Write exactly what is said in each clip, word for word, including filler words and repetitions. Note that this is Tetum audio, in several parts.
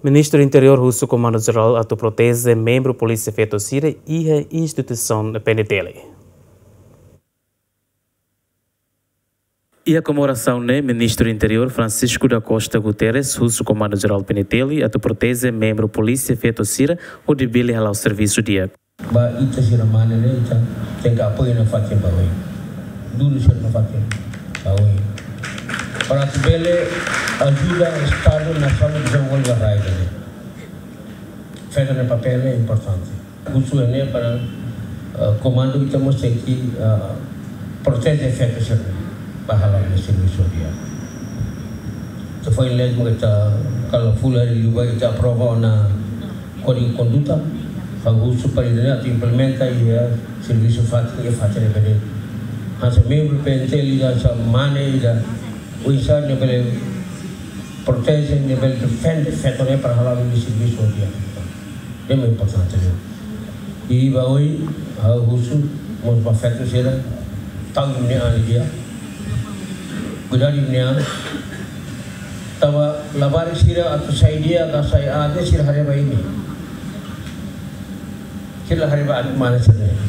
Ministru Interiór husu Komandu Jerál atu proteje membru polísia feto sira iha instituisaun P N T L. Iha komemorasaun ne'e, Ministru Interiór Francisco da Costa Guterres husu Komandu Jerál P N T L atu proteje membru polísia feto sira hodi bele hala'o servisu di'ak. Ba ita sira mane ne'e, ita tenke apoiu nafatin ba oin. Duru sira nafatin ba oin. Para atu bele ajuda Estadu nasaun dezenvolve rai ne'e. Feto nia papél ne'e importante. Husu ne'e para, eh, komandu ita mós tenke, eh, proteje feto sira ba hala'o nia servisu di'ak. Ita foin lei mak ita kala fula liu ba ita aprova ona kódigu konduta, ha'u husu para ita atu implementa iha servisu fatin, iha fatin ne'ebé de'it. Hanesan membru P N T L ida, hanesan mane ida, oinsá nia bele proteje, nia bele defende feto ne'e para hala'o nia servisu di'ak. Ne'e mak importante ne'e. I ba oin, ha'u husu mós ba feto sira, tau imi-nia an di'ak, kuidadu imi-nia an. Tanba labarik sira atu sai di'ak ka sai aat ne'e sira haree ba imi. Sira la haree ba an mane sira ne'e.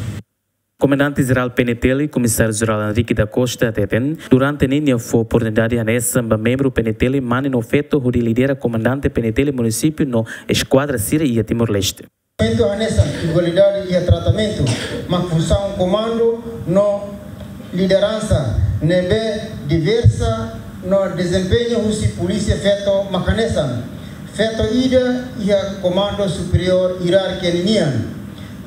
Komandante Jerál P N T L, Komisáriu Jerál Henrique da Costa hateten, durante ne'e nia fó oportunidade hanesan ba membru P N T L mane no feto hodi lidera komandante P N T L munisípiu no eskuadra sira iha Timor-Leste. Tratamentu hanesan igualdade iha tratamentu mak funsaun komandu no lideransa ne'ebé diversa no dezempeñu husi polísia feto mak hanesan: feto ida iha komandu superiór ierárkia ninian,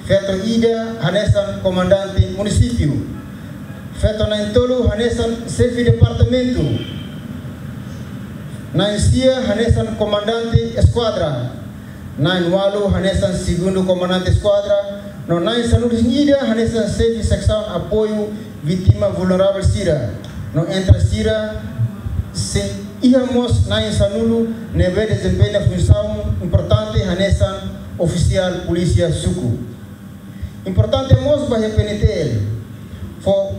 feto ida hanesan komandante munisípiu, feto na'in-tolu hanesan xefe departamentu, na'in-sia hanesan komandante eskuadra, na'in-ualu hanesan segundu komandante eskuadra, no na'in-sanulu-resin-ida hanesan xefe seksaun apoiu vítima vulneravel sira, no entre sira sei iha mós na'in-sanulu ne'ebé dezempeña funsaun importante hanesan ofisiál polísia suku. Importante mós ba iha P N T L fó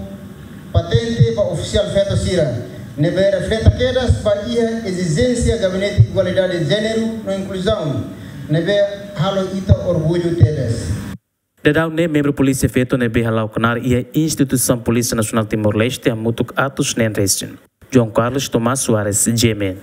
patente ba ofisiál feto sira, ne'ebé refleta kedas ba iha ezijénsia Gabinete Igualdade, Jéneru no Inkluzaun, ne'ebé halo ita orgullu tebes. Daudaun ne'e membru polísia feto ne'ebé hala'o knaar iha instituisaun Polísia Nasionál Timor-Leste hamutuk atus neen resin. João Carlos Tomás Soares, G M N.